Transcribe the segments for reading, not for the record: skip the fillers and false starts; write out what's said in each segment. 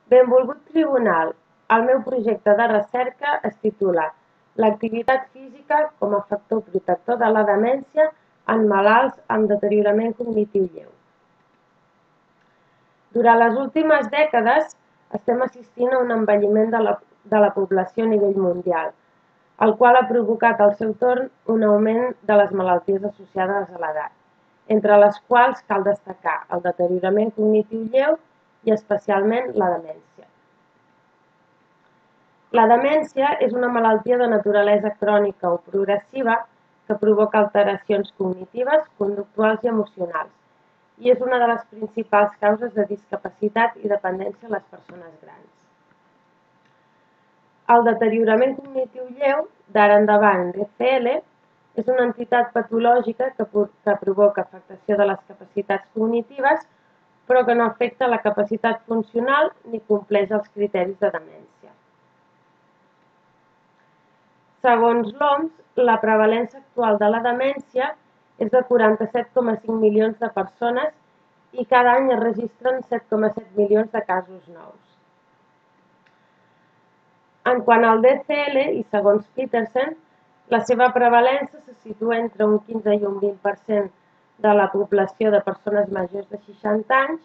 Benvolgut tribunal, el meu projecte de recerca es titula L'activitat física com a factor protector de la demència en malalts amb deteriorament cognitiu lleu. Durant les últimes dècades estem assistint a un envelliment de la població a nivell mundial, el qual ha provocat al seu torn un augment de les malalties associades a l'edat, entre les quals cal destacar el deteriorament cognitiu lleu i especialment la demència. La demència és una malaltia de naturalesa crònica o progressiva que provoca alteracions cognitives, conductuals i emocionals i és una de les principals causes de discapacitat i dependència a les persones grans. El deteriorament cognitiu lleu, d'ara endavant DCL, és una entitat patològica que provoca afectació de les capacitats cognitives però que no afecta la capacitat funcional ni compleix els criteris de demència. Segons l'OMS, la prevalença actual de la demència és de 47,5 milions de persones i cada any es registren 7,7 milions de casos nous. En quant al DCL, i segons Petersen, la seva prevalença se situa entre un 15 i un 20% de la població de persones majors de 60 anys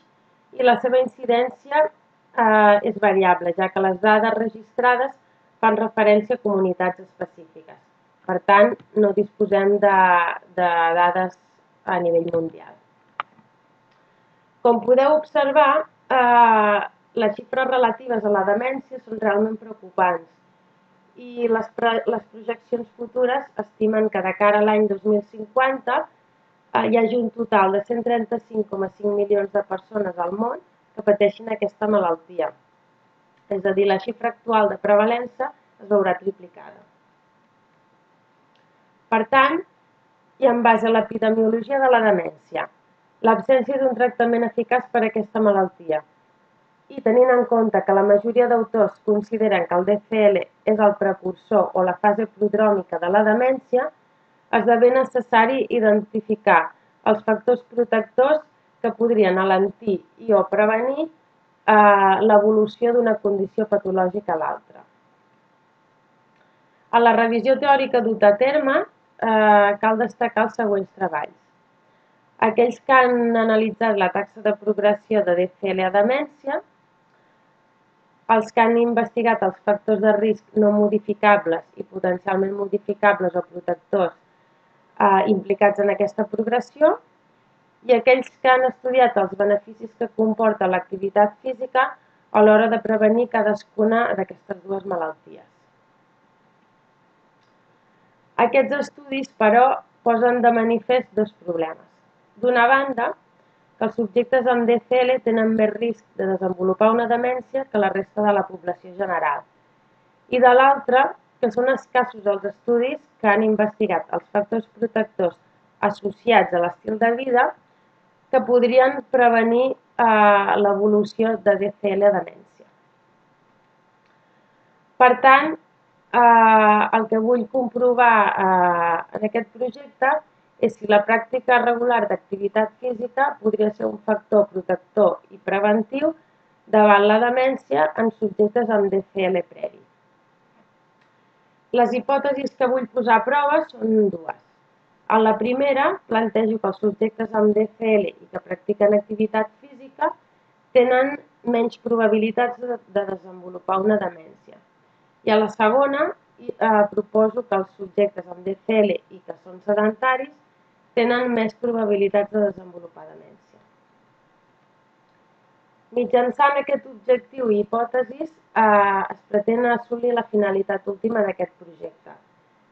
i la seva incidència és variable, ja que les dades registrades fan referència a comunitats específiques. Per tant, no disposem de dades a nivell mundial. Com podeu observar, les xifres relatives a la demència són realment preocupants i les projeccions futures estimen que de cara a l'any 2050 hi hagi un total de 135,5 milions de persones al món que pateixin aquesta malaltia. És a dir, la xifra actual de prevalença es veurà triplicada. Per tant, i en base a l'epidemiologia de la demència, l'absència d'un tractament eficaç per a aquesta malaltia i tenint en compte que la majoria d'autors consideren que el DCL és el precursor o la fase prodròmica de la demència, esdevé necessari identificar els factors protectors que podrien alentir i o prevenir l'evolució d'una condició patològica a l'altra. En la revisió teòrica duta a terme cal destacar els següents treballs. Aquells que han analitzat la taxa de progressió de DCL a demència, els que han investigat els factors de risc no modificables i potencialment modificables o protectors implicats en aquesta progressió i aquells que han estudiat els beneficis que comporta l'activitat física a l'hora de prevenir cadascuna d'aquestes dues malalties. Aquests estudis, però, posen de manifest dos problemes. D'una banda, que els subjectes amb DCL tenen més risc de desenvolupar una demència que la resta de la població general. I de l'altra, que són escassos els estudis que han investigat els factors protectors associats a l'estil de vida que podrien prevenir l'evolució de DCL a demència. Per tant, el que vull comprovar en aquest projecte és si la pràctica regular d'activitat física podria ser un factor protector i preventiu davant la demència en subjectes amb DCL previ. Les hipòtesis que vull posar a prova són dues. En la primera, plantejo que els subjectes amb DCL i que practiquen activitat física tenen menys probabilitats de desenvolupar una demència. I a la segona, proposo que els subjectes amb DCL i que són sedentaris tenen més probabilitats de desenvolupar demència. Mitjançant aquest objectiu i hipòtesis es pretén assolir la finalitat última d'aquest projecte,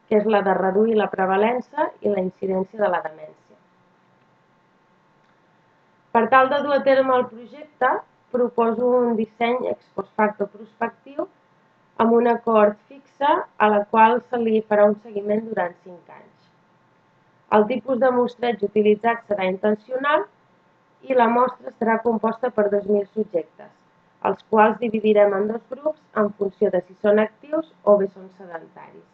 que és la de reduir la prevalença i la incidència de la demència. Per tal de dur a terme el projecte, proposo un disseny ex post facto prospectiu amb una cohort fixa a la qual se li farà un seguiment durant 5 anys. El tipus de mostreig utilitzat serà intencional i la mostra serà composta per 2.000 subjectes, els quals dividirem en dos grups en funció de si són actius o bé són sedentaris.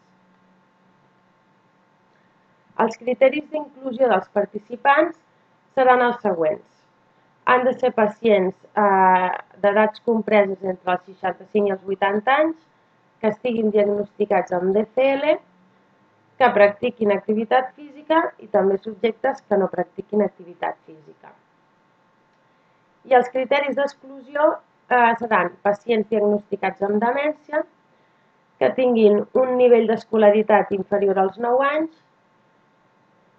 Els criteris d'inclusió dels participants seran els següents. Han de ser pacients d'edats compreses entre els 65 i els 80 anys, que estiguin diagnosticats amb DCL, que practiquin activitat física i també subjectes que no practiquin activitat física. I els criteris d'exclusió seran pacients diagnosticats amb demència, que tinguin un nivell d'escolaritat inferior als 9 anys,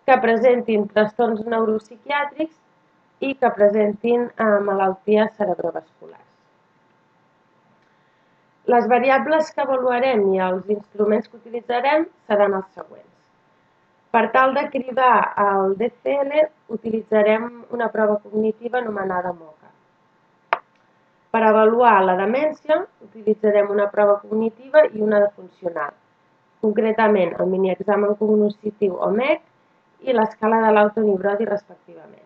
que presentin trastorns neuropsiquiàtrics i que presentin malalties cerebrovasculars. Les variables que avaluarem i els instruments que utilitzarem seran els següents. Per tal de cribar el DCL, utilitzarem una prova cognitiva anomenada MOCA. Per avaluar la demència, utilitzarem una prova cognitiva i una de funcional, concretament el miniexamen cognitiu o MEC i l'escala de l'autoneurosi respectivament.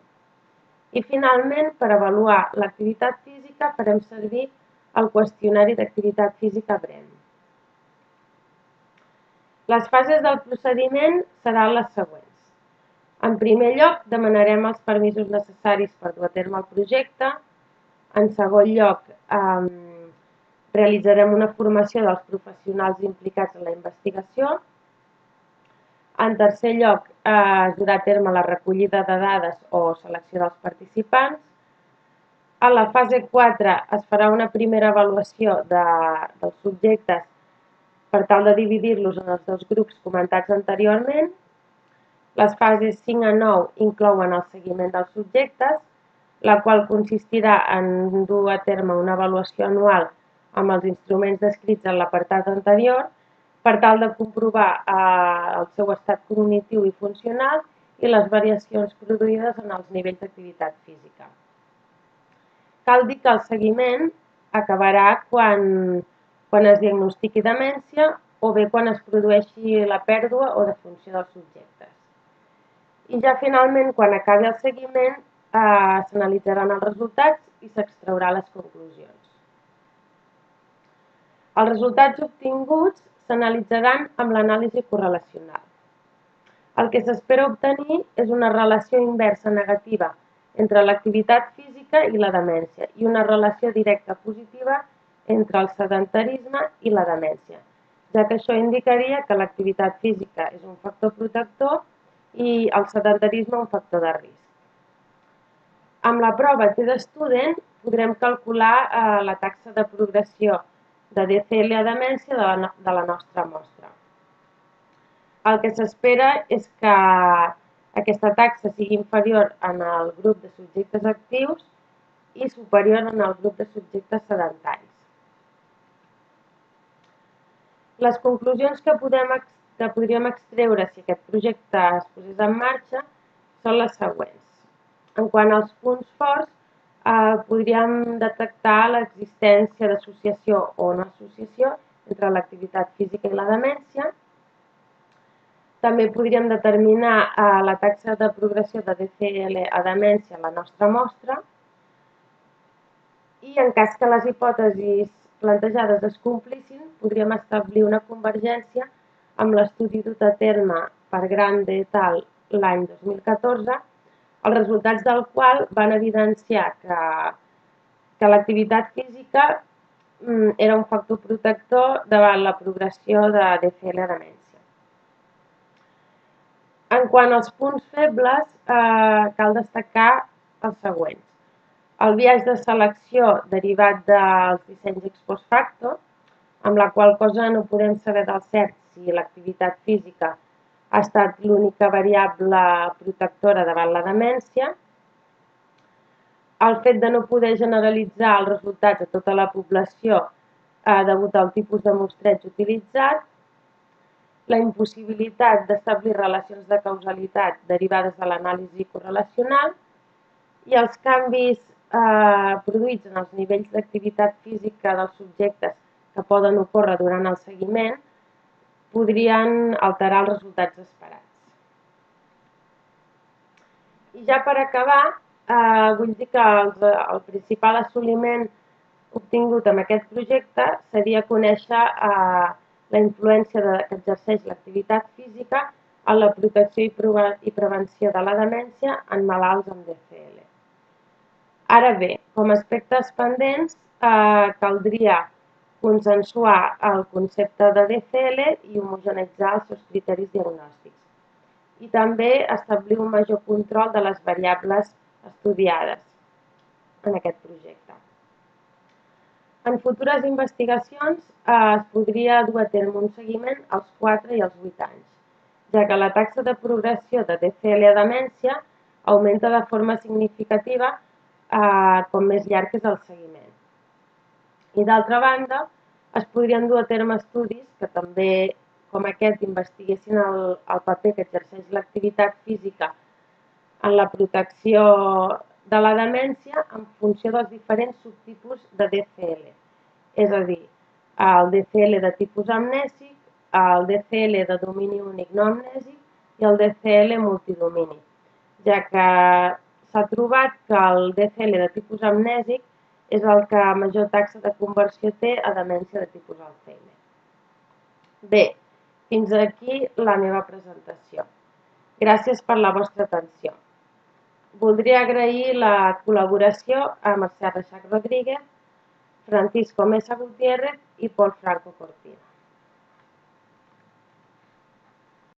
I finalment, per avaluar l'activitat física, farem servir el qüestionari d'activitat física BREM. Les fases del procediment seran les següents. En primer lloc, demanarem els permisos necessaris per dur a terme el projecte. En segon lloc, realitzarem una formació dels professionals implicats en la investigació. En tercer lloc, es durà a terme la recollida de dades o selecció dels participants. A la fase 4 es farà una primera avaluació dels subjectes per tal de dividir-los en els dos grups comentats anteriorment. Les fases 5 a 9 inclouen el seguiment dels subjectes, la qual consistirà en dur a terme una avaluació anual amb els instruments descrits en l'apartat anterior per tal de comprovar el seu estat cognitiu i funcional i les variacions produïdes en els nivells d'activitat física. Cal dir que el seguiment acabarà quan es diagnostiqui demència o bé quan es produeixi la pèrdua o defunció dels subjectes. I ja finalment, quan acabi el seguiment, s'analitzaran els resultats i s'extraurà les conclusions. Els resultats obtinguts s'analitzaran amb l'anàlisi correlacional. El que s'espera obtenir és una relació inversa negativa entre l'activitat física i la demència i una relació directa positiva entre el sedentarisme i la demència, ja que això indicaria que l'activitat física és un factor protector i el sedentarisme un factor de risc. Amb la prova T-Student podrem calcular la taxa de progressió de DCL a demència de la nostra mostra. El que s'espera és que aquesta taxa sigui inferior en el grup de subjectes actius i superior en el grup de subjectes sedentaris. Les conclusions que podríem extreure si aquest projecte es posés en marxa són les següents. En quant als punts forts, podríem detectar l'existència d'associació o no associació entre l'activitat física i la demència. També podríem determinar la taxa de progressió de DCL a demència a la nostra mostra i en cas que les hipòtesis plantejades es complissin, podríem establir una convergència amb l'estudi dut a terme per Grande et al. L'any 2014, els resultats del qual van evidenciar que l'activitat física era un factor protector davant la progressió de DCL a demència. En quant als punts febles, cal destacar els següents. El biaix de selecció derivat dels dissenys ex post facto, amb la qual cosa no podem saber del cert si l'activitat física ha estat l'única variable protectora davant la demència, el fet de no poder generalitzar els resultats a tota la població degut al tipus de mostreig utilitzat, la impossibilitat d'establir relacions de causalitat derivades de l'anàlisi correlacional i els canvis produïts en els nivells d'activitat física dels subjectes que poden ocórrer durant el seguiment podrien alterar els resultats esperats. I ja per acabar, vull dir que el principal assoliment obtingut amb aquest projecte seria conèixer la influència que exerceix l'activitat física en la protecció i prevenció de la demència en malalts amb DCL. Ara bé, com a aspectes pendents, caldria consensuar el concepte de DCL i homogeneitzar els seus criteris diagnòstics. I també establir un major control de les variables estudiades en aquest projecte. En futures investigacions es podria dur a terme un seguiment als 4 i als 8 anys, ja que la taxa de progressió de DCL a demència augmenta de forma significativa com més llarg és el seguiment. I d'altra banda, es podrien dur a terme estudis que també, com aquest, investiguessin el paper que exerceix l'activitat física en la protecció de la demència en funció dels diferents subtipus de DCL, és a dir, el DCL de tipus amnèsic, el DCL de domini únic no amnèsic i el DCL multidomini, ja que s'ha trobat que el DCL de tipus amnèsic és el que major taxa de conversió té a demència de tipus Alzheimer. Bé, fins aquí la meva presentació. Gràcies per la vostra atenció. Voldria agrair la col·laboració a Mercè Reixac Rodríguez, Francisco Mesa Gutiérrez i Pol Franco Cortina.